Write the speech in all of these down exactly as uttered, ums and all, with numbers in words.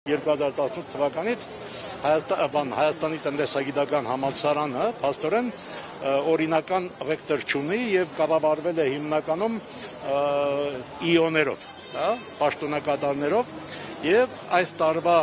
երկու հազար տասնութ թվականից Հայաստանի տնտեսագիտական համալսարանը փաստորեն օրինական ռեկտոր չունի եւ կառավարվել է հիմնականում իոներով, պաշտոնակատարներով եւ այս տարվա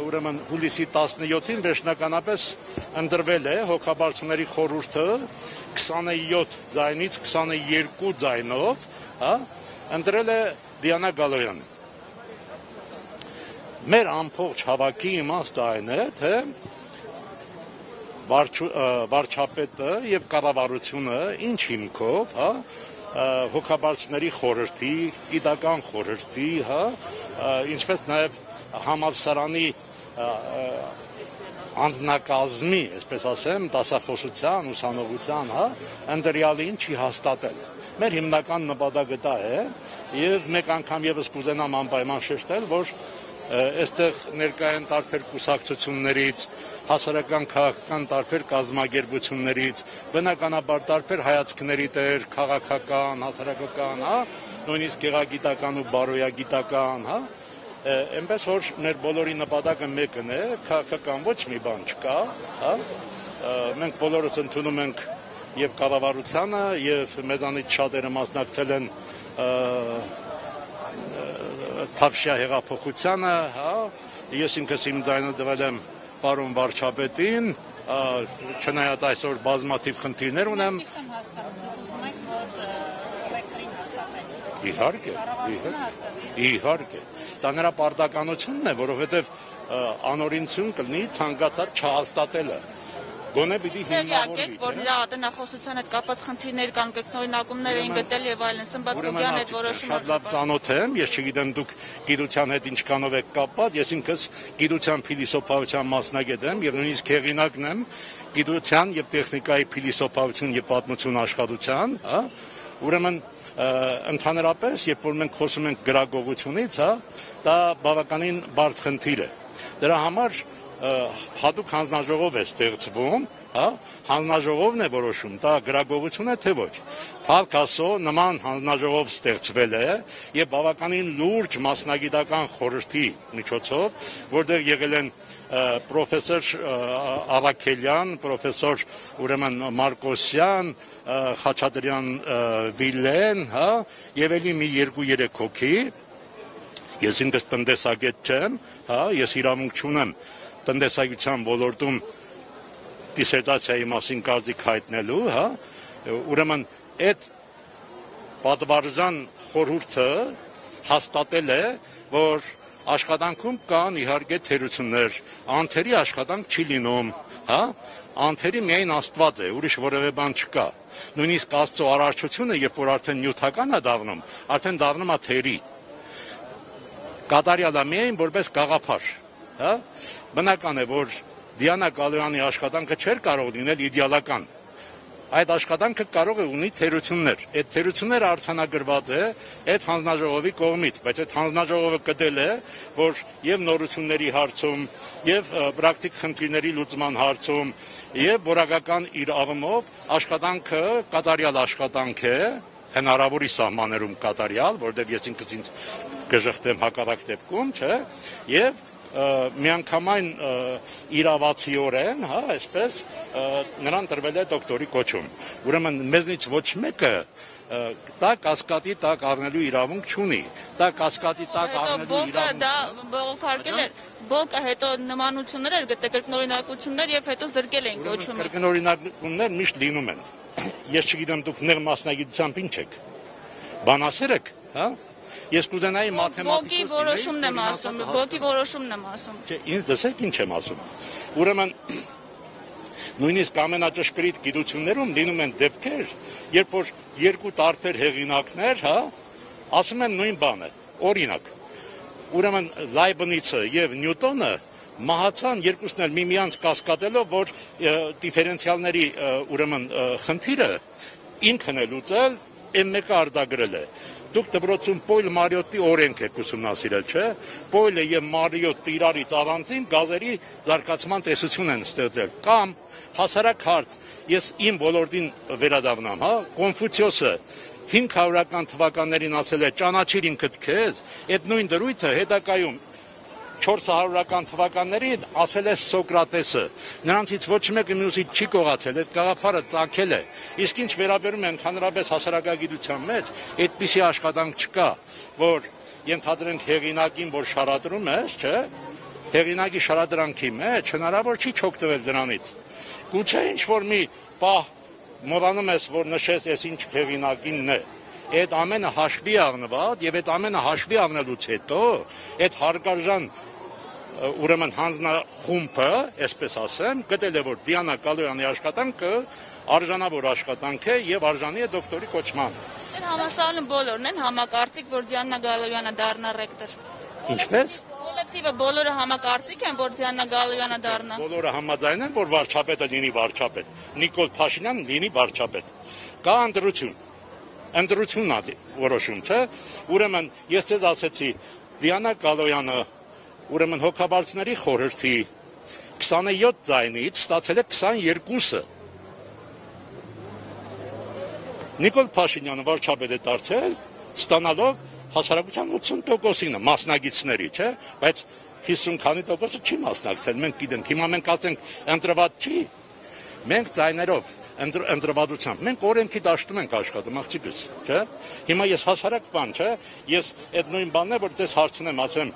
ուրեմն հուլիսի տասնյոթին վերջնականապես ընտրվել է հոգաբարձուների խորհուրդը քսանյոթ ձայնից քսանուերկու ձայնով, հա, ընտրել է Դիանա Գալոյանը։ Մեր ամբողջ հավաքի իմաստը այն է, թե վարչապետը եւ կառավարությունը ինչ հիմքով, հա, հոգաբարձուների խորհրդի, գիտական խորհրդի, հա, ինչպես նաեւ համալսարանի անձնակազմի, այսպես ասեմ, դասախոսության, ուսանողության, հա, ընտրյալին չի հաստատել։ Մեր հիմնական նպատակը դա է, եւ մեկ անգամ եւս կուզենամ անպայման շեշտել, որ այստեղ ներկայ են տարբեր կուսակցություններից, հասարակական քաղաքական տարբեր կազմակերպություններից, բնականաբար տարբեր հայացքների տեր, քաղաքական, հասարակական, հա, նույնիսկ գեղագիտական ու բարոյագիտական, հա, այնպես որ մեր բոլորի նպատակը մեկն է, քաղաքական ոչ մի բան չկա, հա, մենք բոլորս ընդունում ենք եւ կառավարությանը եւ մեզանից շատերը մասնակցել են Թավշյա հեղափոխությանը, հա, ես ինքս իմ ձայնը տվել եմ պարոն վարչապետին, չնայած այսօր բազմաթիվ խնդիրներ ունեմ։ Իհարկե, իհարկե։ Դա նրա պարտականությունն է, որովհետև անօրինություն կլինի ցանկացած չհաստատելը։ Գոնե պիտի հիմնավորվի։ Որ նրա ատենախոսության հետ կապված խնդիրներ կան, կրկնօրինակումներ էին գտել եւ այլն, Սմբատկոկյան այդ որոշումը։ Շատ լավ ծանոթ եմ, ես չգիտեմ դուք գիտության հետ ինչքանով եք կապված, ես ինքս գիտության փիլիսոփայության մասնագետ եմ եւ նույնիսկ հեղինակն եմ գիտության եւ տեխնիկայի փիլիսոփայություն եւ պատմություն աշխատության, հա։ Ուրեմն ընդհանրապես, երբ որ մենք խոսում ենք գրագողությունից, հա, դա բավականին բարդ խնդիր է։ Դրա համար հատուկ հանձնաժողով է ստեղծվում, հա, հանձնաժողովն է որոշում, դա գրագողություն է թե ոչ։ Փառք Աստծո, նման հանձնաժողով ստեղծվել է եւ բավականին լուրջ մասնագիտական խորհրդի միջոցով, որտեղ եղել են պրոֆեսոր Ավակելյան, պրոֆեսոր ուրեմն Մարկոսյան, Խաչատրյան Վիլեն, հա, եւ ելի մի երկու-երեք հոգի։ Ես ինքս տնտեսագետ չեմ, հա, ես իրավունք չունեմ տնտեսագիտության ոլորտում դիսերտացիայի մասին կարծիք հայտնելու, հա, ուրեմն այդ պատվարժան խորհուրդը հաստատել է, որ աշխատանքում կան իհարկե թերություններ, անթերի աշխատանք չի լինում, հա, անթերի միայն Աստված է, ուրիշ որևէ բան չկա։ Նույնիսկ Աստծո արարչությունը, երբ որ արդեն նյութական է դառնում, արդեն դառնում է թերի։ Կատարյալ է միայն որպես գաղափար, հա, բնական է, որ Դիանա Գալոյանի աշխատանքը չէր կարող լինել իդեալական։ Այդ աշխատանքը կարող է ունի թերություններ։ Այդ թերությունները արձանագրված է այդ հանձնաժողովի կողմից, բայց այդ հանձնաժողովը կտել է, որ եւ նորությունների հարցում, եւ պրակտիկ խնդիրների լուծման հարցում, եւ որակական իր աղմով աշխատանքը կատարյալ աշխատանք է, հնարավորի սահմաններում կատարյալ, որտեղ ես ինքս ինձ կժխտեմ հակառակ դեպքում, չէ, եւ միանգամայն իրավացիորեն, հա, այսպես նրան տրվել է դոկտորի կոչում։ Ուրեմն մեզնից ոչ մեկը դա կասկադի տակ առնելու իրավունք չունի։ Դա կասկադի տակ առնելու իրավունք։ Դա բողոքարկել էր, բոկը հետո նմանություններ էր գտել, կրկնօրինակություններ եւ հետո զրկել են կոչումը։ Կրկնօրինակություններ միշտ լինում են։ Ես չգիտեմ դուք նեղ մասնագիտությամբ ինչ եք։ Բանասեր եք, հա։ Ես կուզենայի մաթեմատիկոս։ Բոկի որոշումն եմ ասում, բոկի որոշումն եմ ասում։ Չէ, ինձ դասեք ինչ եմ ասում։ Ուրեմն նույնիսկ ամենաճշգրիտ գիտություններում լինում են դեպքեր, երբ որ երկու տարբեր հեղինակներ, հա, ասում են նույն բանը։ Օրինակ, ուրեմն Լայբնիցը եւ Նյուտոնը մահացան երկուսն էլ միմյանց կասկածելով, որ դիֆերենցիալների ուրեմն խնդիրը ինքն է լուծել, այն մեկը արտագրել է։ Դուք դպրոցում Պոյլ Մարիոտի օրենք եք ուսումնասիրել, չէ՞։ Պոյլը եւ Մարիոտը իրարից առանձին գազերի զարգացման տեսություն են ստեղծել։ Կամ հասարակ հարց, ես իմ ոլորտին վերադառնամ, հա, Կոնֆուցիոսը հինգ հարյուրական թվականներին ասել է ճանաչիր ինքդ քեզ, այդ նույն դրույթը հետագայում չորս հարյուրական թվականներին ասել է Սոկրատեսը, նրանցից ոչ մեկը մյուսից չի կողացել, այդ գաղափարը ծագել է, իսկ ինչ վերաբերում է ընդհանրապես հասարակագիտության մեջ, այդպիսի աշխատանք չկա, որ ենթադրենք հեղինակին, որ շարադրում է, չէ, հեղինակի շարադրանքի մեջ հնարավոր չի չօգտվել դրանից, գուցե ինչ-որ մի պահ մոռանում ես, որ նշես ես ինչ հեղինակինն է, այդ ամենը հաշվի առնված եւ այդ ամենը հաշվի առնելուց հետո այդ հարգարժան ուրեմն հանձնախումբը, այսպես ասեմ, գտել է որ Դիանա Գալոյանի աշխատանքը արժանավոր աշխատանք է եւ արժանի է դոկտորի կոչման։ Այդ համասարանում բոլորն են համակարծիք, որ Դիանա Գալոյանը դառնա ռեկտոր։ Ինչպես։ Կոլեկտիվը բոլորը համակարծիք են, որ Դիանա Գալոյանը դառնա։ Բոլորը համաձայն են, որ վարչապետը լինի վարչապետ, Նիկոլ Փաշինյանն լինի վարչապետ։ Կա ընտրություն։ Ընտրությունն է որոշում, չէ՞։ Ուրեմն ես ձեզ ասեցի, Դիանա Գալոյանը, ուրեմն հոգաբարձների խորհրդի քսաներկու ձայնից ստացել է քսաներկուսը։ Նիկոլ Փաշինյանը վարչապետ է դարձել, ստանալով հասարակության ութսուն տոկոսինը մասնագետների, չէ՞, բայց հիսուն քանի տոկոսը չի մասնակցել, մենք գիտենք, հիմա մենք ասենք ընտրված չի, մենք ձայներով ընտրվածությամբ, մենք օրենքի դաշտում ենք աշխատում, աղջիկս, չէ՞, հիմա ես հասարակ բան, չէ՞, ես այդ նույն բանն է, որ ձեզ հարցնեմ, ասեմ,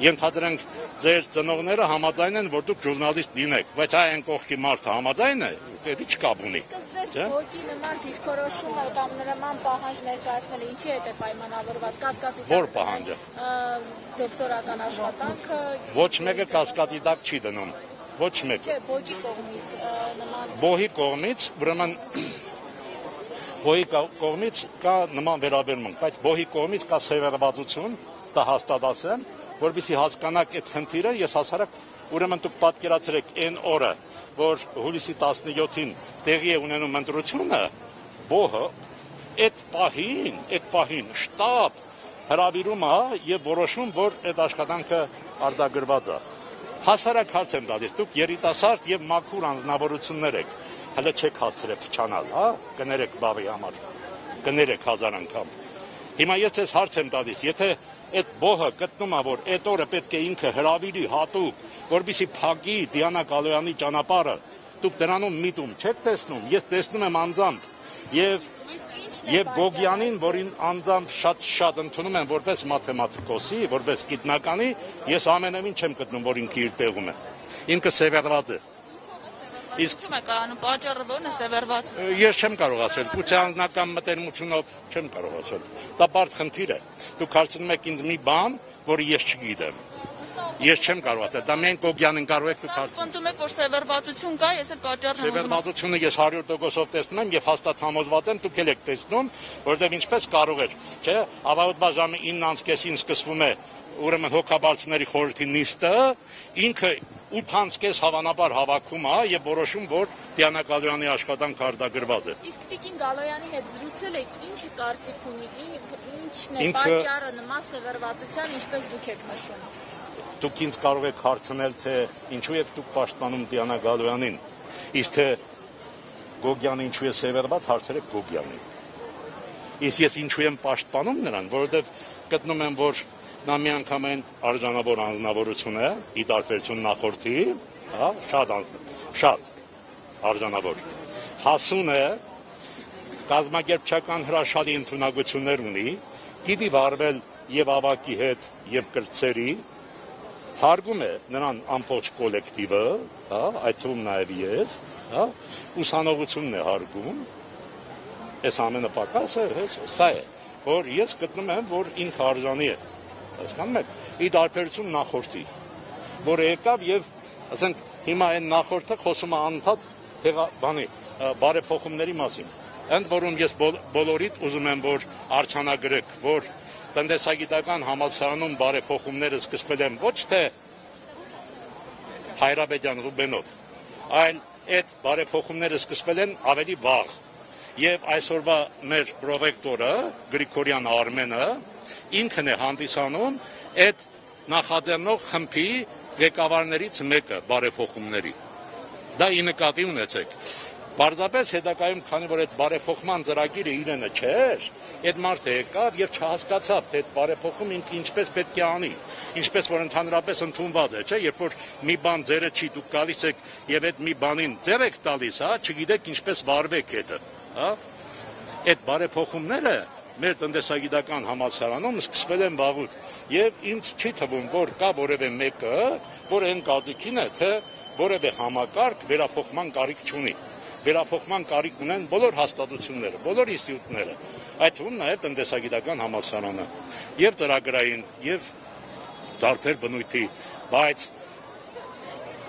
ենթադրենք ձեր ծնողները համաձայն են, որ դուք ժուրնալիստ լինեք, բայց այն կողքի մարդը համաձայն է, դեպի չկապ ունի։ Իսկ ոչի նման դիրքորոշումը կամ նման պահանջ ներկայացնելը ինչի հետ է պայմանավորված, կասկածի Որ պահանջը։ Դոկտորական աշխատանքը։ Ոչ մեկը կասկածի տակ չի դնում, ոչ մեկ։ Չէ, ոչի կողմից նման։ Բոհի կողմից, ուրեմն բոհի կողմից կա նման վերաբերմունք, բայց բոհի կողմից կա սևեռվածություն, դա հաստատ ասեմ, որովհետեւ հասկանաք այդ խնդիրը, ես հասարակ ուրեմն դուք պատկերացրեք այն օրը, որ հուլիսի տասնյոթին տեղի է ունենում ընտրությունը, բոհը այդ պահին, այդ պահին շտաբ հրավիրում է եւ որոշում, որ այդ աշխատանքը արձակագրված է։ Հասարակ հարց եմ տալիս, դուք երիտասարդ եւ մաքուր անձնավորություններ եք, հələ չեք հասցրել փչանալ, հա, կներեք բավի համար, կներեք հազար անգամ։ Հիմա ես ձեզ հարց եմ տալիս, եթե այդ բոհը գտնում է, որ այդ օրը պետք է ինքը հրավիրի հատուկ, որպեսզի փակի Դիանա Գալոյանի ճանապարհը, դուք դրանում միտում չեք տեսնում, ես տեսնում եմ անձամբ եւ եւ Գոգյանին, որին անձամբ շատ-շատ ընդունում են որպես մաթեմատիկոսի, որպես գիտնականի, ես ամենևին չեմ գտնում, որ ինքը իր տեղում է։ Ինքը սևեռված է։ Իսկ ո՞ւմ է կանոն, պատճառը ո՞րն է սևեռվածությունը։ Ես չեմ կարող ասել, գուցե անձնական մտերմությունով չեմ կարող ասել։ Դա բարդ խնդիր է։ Դուք հարցնում եք ինձ մի բան, որը ես չգիտեմ։ Ես չեմ կարող ասել, դա միայն Գոգյանին կարող եք դուք հարցնել։ Պնդում եք, որ սևեռվածություն կա, ես էլ պատճառն եմ ուզում։ Սևեռվածությունը ես հարյուր տոկոսով տեսնում եմ եւ հաստատ համոզված եմ, դուք էլ եք տեսնում, որովհետեւ ինչպես կարող էր, չէ՞, ավարտվա ժամը ինը կեսին սկսվում է ուրեմն հոգաբարձների խորհրդի նիստը, ինքը ութ կես հավանաբար հավաքում է եւ որոշում, որ Դիանա Գալոյանի աշխատանքը արձակագրված է։ Իսկ Տիկին Գալոյանի հետ զրուցել եք, ինչ կարծիք ունի, ինչն է Ինքը- պատճառը նման սևեռվածության, ինչպես դուք եք նշում։ Դուք ինձ կարող եք հարցնել, թե ինչու եք դուք պաշտպանում Դիանա Գալոյանին, իսկ թե Գոգյանը ինչու է սևեռված, հարցրեք Գոգյանին։ Իսկ ես ինչու եմ պաշտպանում նրան, որովհետև գտնում եմ, որ նա միանգամայն արժանավոր անձնավորություն է, ի տարբերություն նախորդի, հա, շատ շատ արժանավոր։ Հասուն է, կազմակերպչական հրաշալի ընդունակություններ ունի, գիտի վարվել եւ ավակի հետ, եւ կրծերի, հարգում է նրան ամբողջ կոլեկտիվը, հա, այդ թվում նաեւ ես, հա, ուսանողությունն է հարգում, այս ամենը պակաս է, սա է, որ ես գտնում եմ, որ ինքը արժանի է, հասկանում եք, ի տարբերություն նախորդի, որը եկավ եւ, ասենք, հիմա այն նախորդը խոսում է անընդհատ տեղա բանի, բարեփոխումների մասին, ընդ որում ես բոլորիդ ուզում եմ, որ արձանագրեք, որ տնտեսագիտական համալսարանում բարեփոխումները սկսվել են ոչ թե Հայրաբեդյան Ռուբենով, այլ այդ բարեփոխումները սկսվել են ավելի վաղ։ Եվ այսօրվա մեր պրոռեկտորը Գրիգորյան Արմենը ինքն է հանդիսանում այդ նախաձեռնող խմբի ղեկավարներից մեկը բարեփոխումների։ Դա ի նկատի ունեցեք։ Պարզապես հետագայում, քանի որ այդ բարեփոխման ծրագիրը իրենը չէր, այդ մարդը եկավ եւ չհասկացավ, թե այդ բարեփոխում ինքը ինչպես պետք է անի։ ինչպես որ ընդհանրապես ընդունված է, չէ, երբ որ մի բան ձերը չի, դուք գալիս եք եւ այդ մի բանին ձեր եք տալիս, հա, չգիտեք ինչպես վարվեք հետը, հա։ Այդ բարեփոխումները մեր տնտեսագիտական համալսարանում սկսվել են վաղուց եւ ինձ չի թվում, որ կա որևէ մեկը, որ այն կազմին է, թե որևէ համակարգ վերափոխման կարիք չունի։ Վերափոխման կարիք ունեն բոլոր հաստատությունները, բոլոր ինստիտուտները, այդ թվում նաև տնտեսագիտական համալսարանը, եւ ծրագրային, եւ տարբեր բնույթի, բայց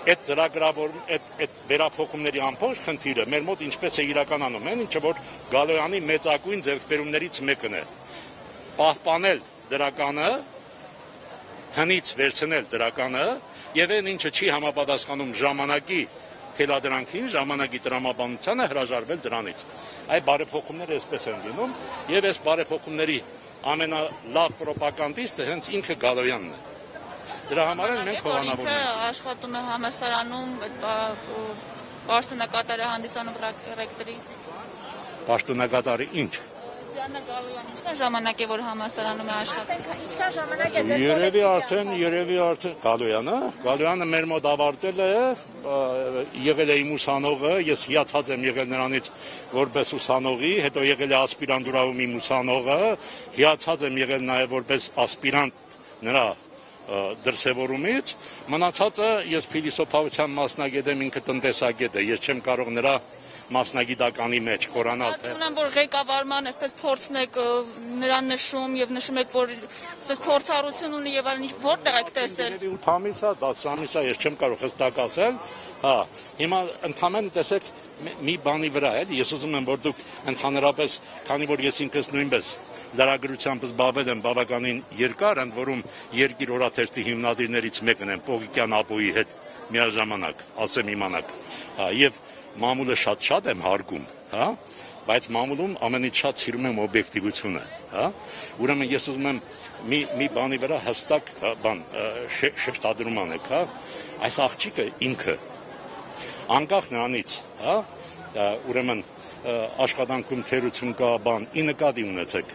այդ ծրագրավոր այդ այդ վերափոխումների ամբողջ խնդիրը մեր մոտ ինչպես է իրականանում են, ինչը որ Գալոյանի մեծագույն ձեռքբերումներից մեկն է։ Պահպանել դրականը, հնից վերցնել դրականը եւ այն ինչը չի համապատասխանում ժամանակի թելադրանքին, ժամանակի տրամաբանությանը հրաժարվել դրանից։ Այդ բարեփոխումները այսպես են լինում եւ այս բարեփոխումների ամենալավ պրոպագանդիստը հենց ինքը Գալոյանն է։ Դրա համար էլ մենք հովանավոր ենք։ Աշխատում է համալսարանում, պաշտոնակատարը հանդիսանում ռեկտորի։ Պաշտոնակատարը ինչ։ Դիանա Գալոյանը ինչքան ժամանակ է որ համալսարանում է աշխատում։ Ինչքան ժամանակ է ձեր Երևի արդեն, երևի արդեն Գալոյանը, Գալոյանը մեր մոտ ավարտել է, եղել է իմ ուսանողը, ես հիացած եմ եղել նրանից որպես ուսանողի, հետո եղել է ասպիրանտուրայում իմ ուսանողը, հիացած եմ եղել նաև որպես ասպիրանտ նրա դրսևորումից, մնացածը ես փիլիսոփայության մասնագետ եմ, ինքը տնտեսագետ է, ես չեմ կարող նրա մասնագիտականի մեջ խորանալ թե Ուրեմն որ ղեկավարման այսպես փորձն եք նրան նշում եւ նշում եք որ այսպես փորձառություն ունի եւ այլն որտեղ եք տեսել ութ ամիս է, դաս ամիս է, ես չեմ կարող հստակ ասել, հա, հիմա ընդհանրապես տեսեք մի բանի վրա էլի, ես ուզում եմ որ դուք ընդհանրապես, քանի որ ես ինքս նույնպես լրագրությամբ զբաղվել եմ բավականին երկար, ընդ որում երկիր օրաթերթի հիմնադիրներից մեկն եմ Պողիկյան ապոյի հետ միաժամանակ, ասեմ իմանաք, հա, եւ մամուլը շատ-շատ եմ հարգում, հա, բայց մամուլում ամենից շատ սիրում եմ օբյեկտիվությունը, հա, ուրեմն ես ուզում եմ մի մի բանի վրա հստակ բան շեշտադրում անեք, հա, այս աղջիկը ինքը անկախ նրանից, հա, ուրեմն աշխատանքում թերություն կա բան, ի նկատի ունեցեք,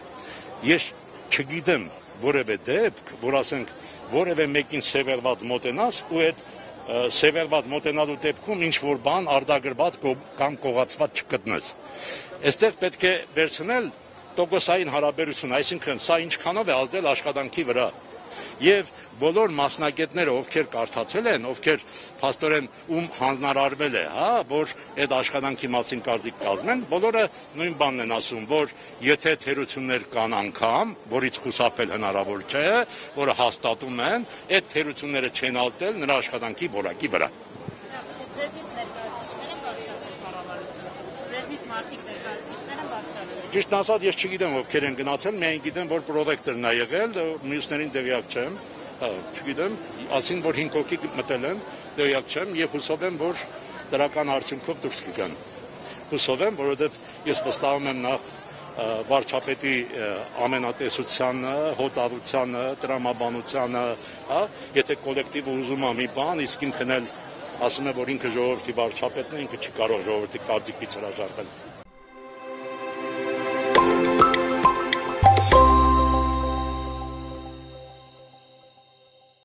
ես չգիտեմ որևէ դեպք, որ ասենք որևէ մեկին սևեռված մոտենաս ու այդ սևեռված մոտենալու դեպքում ինչ որ բան արդագրված կամ կողացված չգտնես։ Այստեղ պետք է վերցնել տոկոսային հարաբերություն, այսինքն սա ինչքանով է ազդել աշխատանքի վրա։ Եվ բոլոր մասնագետները, ովքեր կարդացել են, ովքեր փաստորեն ում հանձնարարվել է, հա, որ այդ աշխատանքի մասին կարծիք կազմեն, բոլորը նույն բանն են ասում, որ եթե թերություններ կան անգամ, որից խուսափել հնարավոր չէ, որը հաստատում են, այդ թերությունները չեն ալտել նրա աշխատանքի որակի վրա։ Ճիշտ ասած, ես չգիտեմ ովքեր են գնացել, միայն գիտեմ, որ պրոդեկտորն է եղել, մյուսներին տեղյակ չեմ, հա, չգիտեմ, ասին, որ հինգ հոգի մտել են, տեղյակ չեմ եւ հուսով եմ, որ դրական արդյունքով դուրս կգան։ Հուսով եմ, որովհետեւ ես վստահում եմ նախ վարչապետի ամենատեսությանը, հոտավությանը, տրամաբանությանը, հա, եթե կոլեկտիվը ուզում է մի բան, իսկ ինքն էլ ասում է, որ ինքը ժողովրդի վարչապետն է, ինքը չի կարող ժողովրդի կարծիքից հրաժարվել։